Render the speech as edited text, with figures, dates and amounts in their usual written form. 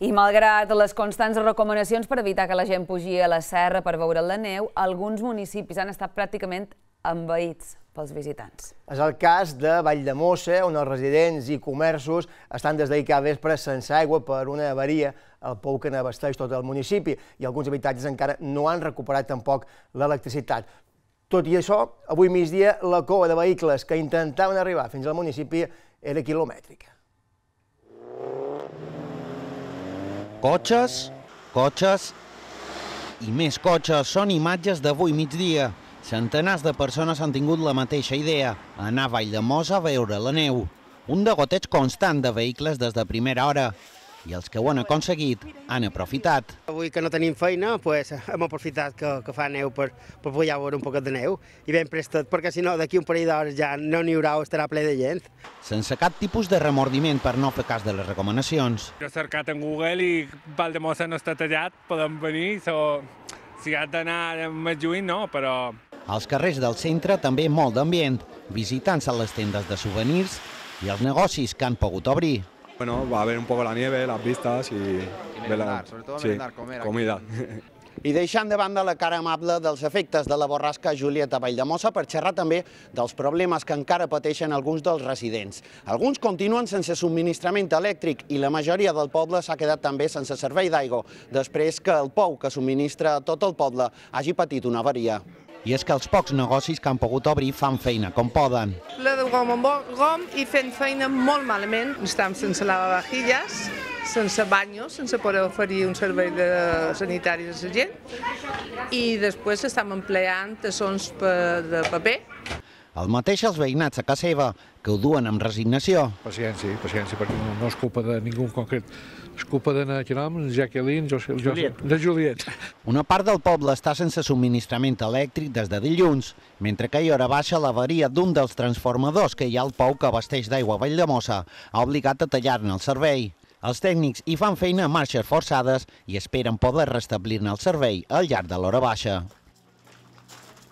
I malgrat les constants recomanacions per evitar que la gent pugi a la serra per veure la neu, alguns municipis han estat pràcticament envaïts pels visitants. És el cas de Valldemossa, on els residents i comerços estan des d'ahir cada vespre sense aigua per una avaria al pou que n'abasteix tot el municipi i alguns habitatges encara no han recuperat tampoc l'electricitat. Tot i això, avui migdia la cua de vehicles que intentaven arribar fins al municipi era quilomètrica. Cotxes, cotxes i més cotxes són imatges d'avui migdia. Centenars de persones han tingut la mateixa idea, anar a Valldemossa a veure la neu. Un degoteig constant de vehicles des de primera hora. I els que ho han aconseguit han aprofitat. Avui que no tenim feina, hem aprofitat que fa neu per poder veure un poquet de neu i ben prestat, perquè si no d'aquí un parell d'hores ja no n'hi haurà o estarà ple de gent. Sense cap tipus de remordiment per no fer cas de les recomanacions. Jo he cercat en Google i Valldemossa no està tallat, podem venir, si has d'anar més lluny no, però... Als carrers del centre també molt d'ambient, visitants a les tendes de souvenirs i els negocis que han pogut obrir. Bueno, va a ver un poco la nieve, las vistas y merendar, sobre todo merendar, comer. Comida. I deixant de banda la cara amable dels efectes de la borrasca Juliet a Valldemossa per xerrar també dels problemes que encara pateixen alguns dels residents. Alguns continuen sense subministrament elèctric i la majoria del poble s'ha quedat també sense servei d'aigua, després que el pou que subministra a tot el poble hagi patit una avaria. I és que els pocs negocis que han pogut obrir fan feina com poden. La de gom en gom i fent feina molt malament. Estem sense lavavajilles, sense banyos, sense poder oferir un servei sanitari a la gent. I després estem empleant tassons de paper. El mateix els veïnats a casa seva, que ho duen amb resignació. Paciència, perquè no és culpa de ningú en concret. És culpa de Jacqueline, de Juliet. Una part del poble està sense subministrament elèctric des de dilluns, mentre que a hora baixa l'avaria d'un dels transformadors que hi ha al pou que abasteix d'aigua a Valldemossa ha obligat a tallar-ne el servei. Els tècnics hi fan feina a marxes forçades i esperen poder restablir-ne el servei al llarg de l'hora baixa.